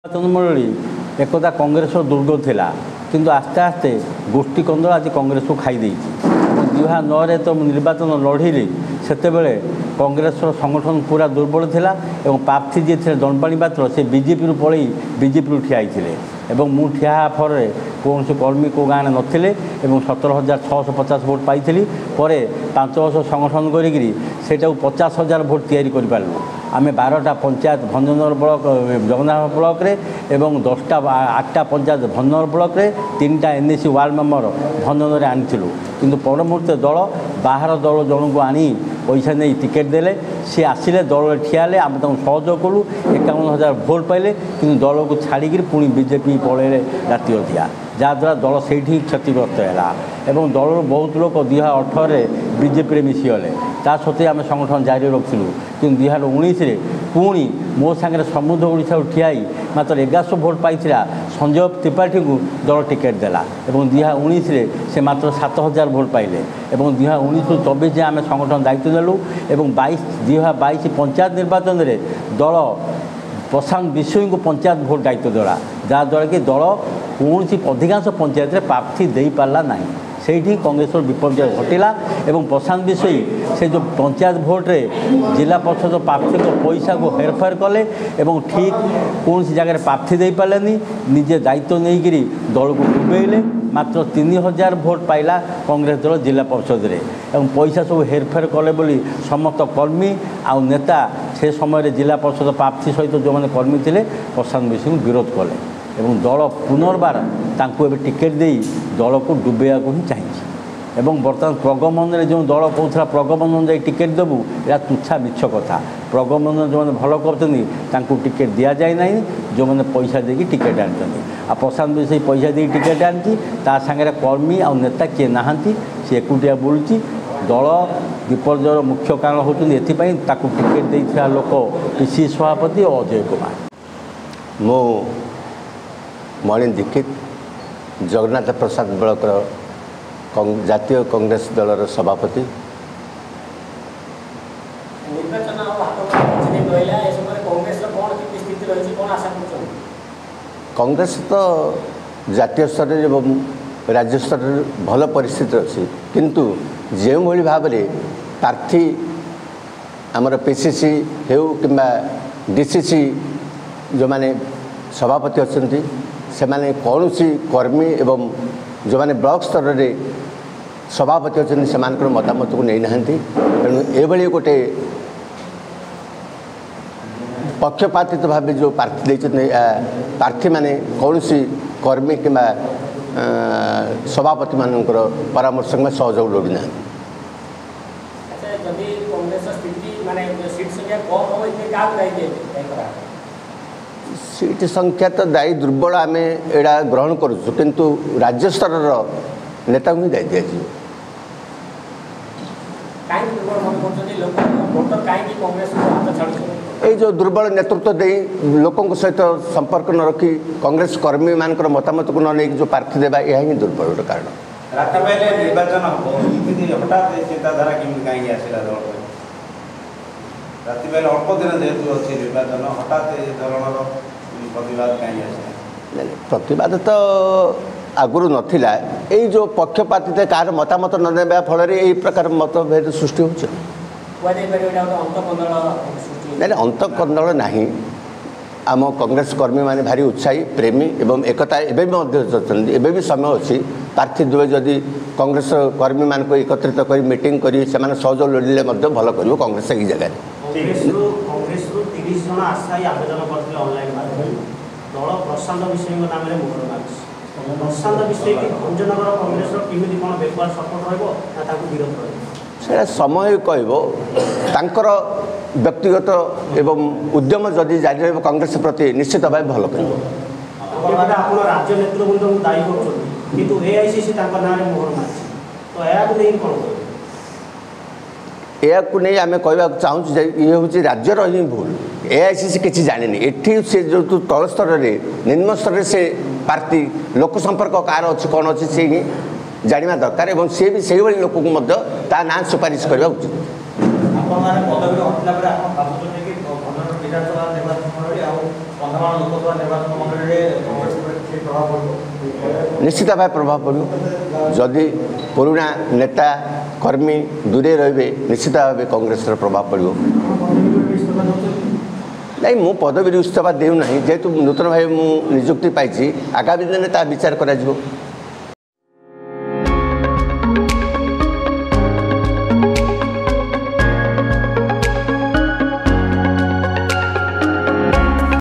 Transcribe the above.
ନିର୍ବାଚନ ମଣ୍ଡଳୀ ଏକଦା କଂଗ୍ରେସର ଦୁର୍ଗ ଥିଲା, କିନ୍ତୁ ଆସ୍ତେ ଆସ୍ତେ ଗୋଷ୍ଠୀ କନ୍ଦଳ ଆଜି କଂଗ୍ରେସକୁ ଖାଇ ଦେଇଛି। 2009ରେ ତ ମୁଁ ନିର୍ବାଚନ ଲଢ଼ିଲି, ସେତେବେଳେ କଂଗ୍ରେସର ସଂଗଠନ ପୁରା ଦୁର୍ବଳ ଥିଲା ଏବଂ ପ୍ରାର୍ଥୀ ଯିଏ ଥିଲେ ଦଣ୍ଡପାଣି ପାତ୍ର, ସେ ବିଜେପିରୁ ପଳେଇ ବିଜେପିରୁ ଠିଆ ହେଇଥିଲେ ଏବଂ ମୁଁ ଠିଆ ହେବା ଫଳରେ କୌଣସି କର୍ମୀ କେଉଁ ଗାଁରେ ନଥିଲେ ଏବଂ 17,650 ଭୋଟ୍ ପାଇଥିଲି। ପରେ 5 ବର୍ଷ ସଂଗଠନ କରିକିରି ସେଇଟାକୁ 50,000 ଭୋଟ୍ ତିଆରି କରିପାରିଲୁ। ଆମେ 12ଟା ପଞ୍ଚାୟତ ଭଞ୍ଜନଗର ବ୍ଲକ, ଜଗନ୍ନାଥ ବ୍ଲକରେ ଏବଂ 10ଟା, 8ଟା ପଞ୍ଚାୟତ ଭଞ୍ଜନଗର ବ୍ଲକରେ, 3ଟା N A C ward member ଭଞ୍ଜନଗରରେ ଆଣିଥିଲୁ। କିନ୍ତୁ ପର ମୁହୂର୍ତ୍ତେ ଦଳ ବାହାର ଦଳ ଜଣଙ୍କୁ ଆଣି ପଇସା ନେଇ ଟିକେଟ୍ ଦେଲେ। ସିଏ ଆସିଲେ, ଦଳରେ ଠିଆ ହେଲେ, ଆମେ ତାଙ୍କୁ ସହଯୋଗ କଲୁ, 51,000 ଭୋଟ୍ ପାଇଲେ, କିନ୍ତୁ ଦଳକୁ ଛାଡ଼ିକିରି ପୁଣି ବିଜେପି ପଳେଇଲେ ରାତି ଅଧିଆ, ଯାହାଦ୍ୱାରା ଦଳ ସେଇଠି କ୍ଷତିଗ୍ରସ୍ତ ହେଲା ଏବଂ ଦଳରୁ ବହୁତ ଲୋକ 2018ରେ ବିଜେପିରେ ମିଶିଗଲେ। ତା ସତ୍ତ୍ୱେ ଆମେ ସଂଗଠନ ଜାରି ରଖିଥିଲୁ। କିନ୍ତୁ 2019ରେ ପୁଣି ମୋ ସାଙ୍ଗରେ ସମୃଦ୍ଧ ଓଡ଼ିଶାରୁ ଠିଆ ହେଇ ମାତ୍ର 1100 ଭୋଟ୍ ପାଇଥିଲା ସଞ୍ଜୟ ତ୍ରିପାଠୀଙ୍କୁ ଦଳ ଟିକେଟ୍ ଦେଲା ଏବଂ 2019ରେ ସେ ମାତ୍ର 7,000 ଭୋଟ୍ ପାଇଲେ। ଏବଂ 2019ରୁ 24 ଯାଏଁ ଆମେ ସଂଗଠନ ଦାୟିତ୍ୱ ନେଲୁ ଏବଂ 2022 ପଞ୍ଚାୟତ ନିର୍ବାଚନରେ ଦଳ ପ୍ରଶାନ୍ତ ବିଷୋୟୀଙ୍କୁ ପଞ୍ଚାୟତ ଭୋଟ୍ ଦାୟିତ୍ୱ ଦେଲା, ଯାହାଦ୍ୱାରା କି ଦଳ କୌଣସି ଅଧିକାଂଶ ପଞ୍ଚାୟତରେ ପ୍ରାର୍ଥୀ ଦେଇପାରିଲା ନାହିଁ। ସେଇଠି କଂଗ୍ରେସର ବିପର୍ଯ୍ୟୟ ଘଟିଲା ଏବଂ ପ୍ରଶାନ୍ତ ବିଷୋୟୀ ସେ ଯେଉଁ ପଞ୍ଚାୟତ ଭୋଟ୍ରେ ଜିଲ୍ଲା ପରିଷଦ ପ୍ରାର୍ଥୀଙ୍କ ପଇସାକୁ ହେରଫେର କଲେ ଏବଂ ଠିକ୍ କୌଣସି ଜାଗାରେ ପ୍ରାର୍ଥୀ ଦେଇପାରିଲେନି, ନିଜେ ଦାୟିତ୍ୱ ନେଇକରି ଦଳକୁ ଡୁବେଇଲେ। ମାତ୍ର 3,000 ଭୋଟ୍ ପାଇଲା କଂଗ୍ରେସ ଦଳ ଜିଲ୍ଲା ପରିଷଦରେ ଏବଂ ପଇସା ସବୁ ହେରଫେର କଲେ ବୋଲି ସମସ୍ତ କର୍ମୀ ଆଉ ନେତା ସେ ସମୟରେ ଜିଲ୍ଲା ପରିଷଦ ପ୍ରାର୍ଥୀ ସହିତ ଯେଉଁମାନେ କର୍ମୀ ଥିଲେ ପ୍ରଶାନ୍ତ ବିଷୋୟୀଙ୍କୁ ବିରୋଧ କଲେ ଏବଂ ଦଳ ପୁନର୍ବାର ତାଙ୍କୁ ଏବେ ଟିକେଟ୍ ଦେଇ ଦଳକୁ ଡୁବେଇବାକୁ ହିଁ ଚାହିଁଛି। ଏବଂ ବର୍ତ୍ତମାନ ପ୍ରଗମନରେ ଯେଉଁ ଦଳ କହୁଥିଲା ପ୍ରଗମନ ଯାଇ ଟିକେଟ୍ ଦେବୁ, ଏଇଟା ତୁଚ୍ଛା ମିଛ କଥା। ପ୍ରଗମନ ଯେଉଁମାନେ ଭଲ କରୁଛନ୍ତି ତାଙ୍କୁ ଟିକେଟ୍ ଦିଆଯାଏ ନାହିଁ, ଯେଉଁମାନେ ପଇସା ଦେଇକି ଟିକେଟ୍ ଆଣିଛନ୍ତି। ଆଉ ପ୍ରଶାନ୍ତ ବିଷୋୟୀ ପଇସା ଦେଇକି ଟିକେଟ୍ ଆଣିଛି, ତା ସାଙ୍ଗରେ କର୍ମୀ ଆଉ ନେତା କିଏ ନାହାନ୍ତି, ସେ ଏକୁଟିଆ ବୁଲୁଛି। ଦଳ ବିପର୍ଯ୍ୟୟର ମୁଖ୍ୟ କାରଣ ହେଉଛନ୍ତି ଏଥିପାଇଁ ତାକୁ ଟିକେଟ୍ ଦେଇଥିବା ଲୋକ ପିସି ସଭାପତି ଓ ଅଜୟ କୁମାର। ମୁଁ ମଣି ଦୀକ୍ଷିତ, ଜଗନ୍ନାଥ ପ୍ରସାଦ ବ୍ଲକର ଜାତୀୟ କଂଗ୍ରେସ ଦଳର ସଭାପତି। ନିର୍ବାଚନ ଆଉ ହାତ କିଛି ଦିନ ରହିଲା, ଏ ସମୟରେ କଂଗ୍ରେସର କ'ଣ କେମିତି ସ୍ଥିତି ରହିଛି, କ'ଣ ଆଶା କରୁଛନ୍ତି? କଂଗ୍ରେସ ତ ଜାତୀୟ ସ୍ତରରେ ଏବଂ ରାଜ୍ୟ ସ୍ତରରେ ଭଲ ପରିସ୍ଥିତି ଅଛି, କିନ୍ତୁ ଯେଉଁଭଳି ଭାବରେ ପ୍ରାର୍ଥୀ ଆମର ପି ସି ସି ହେଉ କିମ୍ବା ଡି ସି ସି ଯେଉଁମାନେ ସଭାପତି ଅଛନ୍ତି, ସେମାନେ କୌଣସି କର୍ମୀ ଏବଂ ଯେଉଁମାନେ ବ୍ଲକ ସ୍ତରରେ ସଭାପତି ଅଛନ୍ତି ସେମାନଙ୍କର ମତାମତକୁ ନେଇନାହାନ୍ତି। ତେଣୁ ଏଭଳି ଗୋଟେ ପକ୍ଷପାତିତ ଭାବେ ଯେଉଁ ପ୍ରାର୍ଥୀ ଦେଇଛନ୍ତି, ପ୍ରାର୍ଥୀମାନେ କୌଣସି କର୍ମୀ କିମ୍ବା ସଭାପତିମାନଙ୍କର ପରାମର୍ଶ କିମ୍ବା ସହଯୋଗ ଲୋଡ଼ିନାହାନ୍ତି। ଆଚ୍ଛା, ଯଦି କଂଗ୍ରେସର ସ୍ଥିତି ମାନେ ସିଟ୍ ସଂଖ୍ୟା କମ୍ ହେବ, ଏଥିରେ କାହାକୁ ଦାୟୀ କରାହେବ? ସିଟ୍ ସଂଖ୍ୟା ତ ଦାୟୀ ଦୁର୍ବଳ, ଆମେ ଏଇଟା ଗ୍ରହଣ କରୁଛୁ, କିନ୍ତୁ ରାଜ୍ୟ ସ୍ତରର ନେତାଙ୍କୁ ହିଁ ଦାୟୀ ଦିଆଯିବ। କାହିଁକି ଦୁର୍ବଳ ମନେ କରୁଛନ୍ତି? ଲୋକ ଭୋଟର କାହିଁକି କଂଗ୍ରେସକୁ ହାତ ଛାଡ଼ୁଛନ୍ତି? ଏଇ ଯେଉଁ ଦୁର୍ବଳ ନେତୃତ୍ୱ ଦେଇ ଲୋକଙ୍କ ସହିତ ସମ୍ପର୍କ ନ ରଖି କଂଗ୍ରେସ କର୍ମୀମାନଙ୍କର ମତାମତକୁ ନ ନେଇକି ଯେଉଁ ପ୍ରାର୍ଥୀ ଦେବା, ଏହା ହିଁ ଦୁର୍ବଳର କାରଣ। ରାତି ପାଇଲେ ନିର୍ବାଚନ ହେବ, ଏମିତି ହଠାତ୍ ଚିନ୍ତାଧାରା କେମିତି କାହିଁକି ଆସିଲା ଦଳ ପାଇଁ? ରାତି ପାଇଲେ ଅଳ୍ପ ଦିନ ଯେହେତୁ ଅଛି ନିର୍ବାଚନ, ହଠାତ୍ ଏ ଧରଣର ପ୍ରତିବାଦ କାହିଁକି ଆସିଲା? ପ୍ରତିବାଦ ତ ଆଗରୁ ନଥିଲା। ଏଇ ଯେଉଁ ପକ୍ଷପାତିତା, କାହାର ମତାମତ ନ ନେବା ଫଳରେ ଏଇ ପ୍ରକାର ମତଭେଦ ସୃଷ୍ଟି ହେଉଛି। କୁହାଯାଇପାରିବ ଏଇଟା ଗୋଟେ ଅନ୍ତଃକନ୍ଦଳ ସୃଷ୍ଟି? ନାଇଁ, ଅନ୍ତଃକନ୍ଦଳ ନାହିଁ। ଆମ କଂଗ୍ରେସ କର୍ମୀମାନେ ଭାରି ଉତ୍ସାହୀ, ପ୍ରେମୀ ଏବଂ ଏକତା ଏବେ ବି ମଧ୍ୟ ଅଛନ୍ତି। ଏବେ ବି ସମୟ ଅଛି। ପ୍ରାର୍ଥୀ ଦ୍ୱୟ ଯଦି କଂଗ୍ରେସ କର୍ମୀମାନଙ୍କୁ ଏକତ୍ରିତ କରି ମିଟିଂ କରି ସେମାନେ ସହଯୋଗ ଲୋଡ଼ିଲେ ମଧ୍ୟ ଭଲ କରିବ କଂଗ୍ରେସ ଏଇ ଜାଗାରେ। କଂଗ୍ରେସରୁ 30 ଜଣ ଆଶାୟୀ ଆବେଦନ କରିଥିଲେ ଅନଲାଇନ୍ ମାଧ୍ୟମରେ। ଦଳ ପ୍ରଶାନ୍ତ ବିଷୋୟୀଙ୍କ ନାମରେ ମୋହର ମାରିଛି। ପ୍ରଶାନ୍ତ ବିଷୋୟୀ ଭଞ୍ଜନଗର କଂଗ୍ରେସର କେମିତି କ'ଣ ବେକୱାର୍ଡ ସପୋର୍ଟ ରହିବ ନା ତାଙ୍କୁ ବିରୋଧ ରହିବ? ସେଇଟା ସମୟ କହିବ। ତାଙ୍କର ବ୍ୟକ୍ତିଗତ ଏବଂ ଉଦ୍ୟମ ଯଦି ଜାରି ରହିବ କଂଗ୍ରେସ ପ୍ରତି, ନିଶ୍ଚିତ ଭାବେ ଭଲ କରିବ। ଏପଟେ ଆପଣ ରାଜ୍ୟ ନେତୃବୃନ୍ଦଙ୍କୁ ଦାୟୀ କରୁଛନ୍ତି, କିନ୍ତୁ ଏଆଇସିସି ତାଙ୍କ ନାଁରେ ମୋହର ମାରିଛି, ତ ଏହାକୁ ନେଇ କ'ଣ କହିବେ? ଏହାକୁ ନେଇ ଆମେ କହିବାକୁ ଚାହୁଁଛୁ ଯେ ଇଏ ହେଉଛି ରାଜ୍ୟର ହିଁ ଭୁଲ। ଏଆଇସିସି କିଛି ଜାଣିନି। ଏଠି ସେ ଯେହେତୁ ତଳ ସ୍ତରରେ, ନିମ୍ନ ସ୍ତରରେ ସେ ପ୍ରାର୍ଥୀ ଲୋକ ସମ୍ପର୍କ କାହାର ଅଛି କ'ଣ ଅଛି ସେ ହିଁ ଜାଣିବା ଦରକାର ଏବଂ ସିଏ ବି ସେଇଭଳି ଲୋକଙ୍କୁ ମଧ୍ୟ ତା ନାଁ ସୁପାରିଶ କରିବା ଉଚିତ। ଆପଣମାନେ ପଦବୀରୁ ହଟିଲା ପରେ ଆପଣ ଭାବୁଛନ୍ତି କି ଭଞ୍ଜନଗର ବିଧାନସଭା ନିର୍ବାଚନ ମଣ୍ଡଳୀ ଆଉ କନ୍ଧମାଳ ଲୋକସଭା ନିର୍ବାଚନ ମଣ୍ଡଳୀରେ କଂଗ୍ରେସ ଉପରେ କିଛି ପ୍ରଭାବ ପଡ଼ିବ? ନିଶ୍ଚିତ ଭାବେ ପ୍ରଭାବ ପଡ଼ିବ। ଯଦି ପୁରୁଣା ନେତା କର୍ମୀ ଦୂରେଇ ରହିବେ, ନିଶ୍ଚିତ ଭାବେ କଂଗ୍ରେସର ପ୍ରଭାବ ପଡ଼ିବ। ପଦବୀରୁ ଇସ୍ତଫା ଦେଉଛନ୍ତି? ନାଇଁ, ମୁଁ ପଦବୀରୁ ଇସ୍ତଫା ଦେଉନାହିଁ। ଯେହେତୁ ନୂତନ ଭାବେ ମୁଁ ନିଯୁକ୍ତି ପାଇଛି, ଆଗାମୀ ଦିନରେ ତାହା ବିଚାର କରାଯିବ।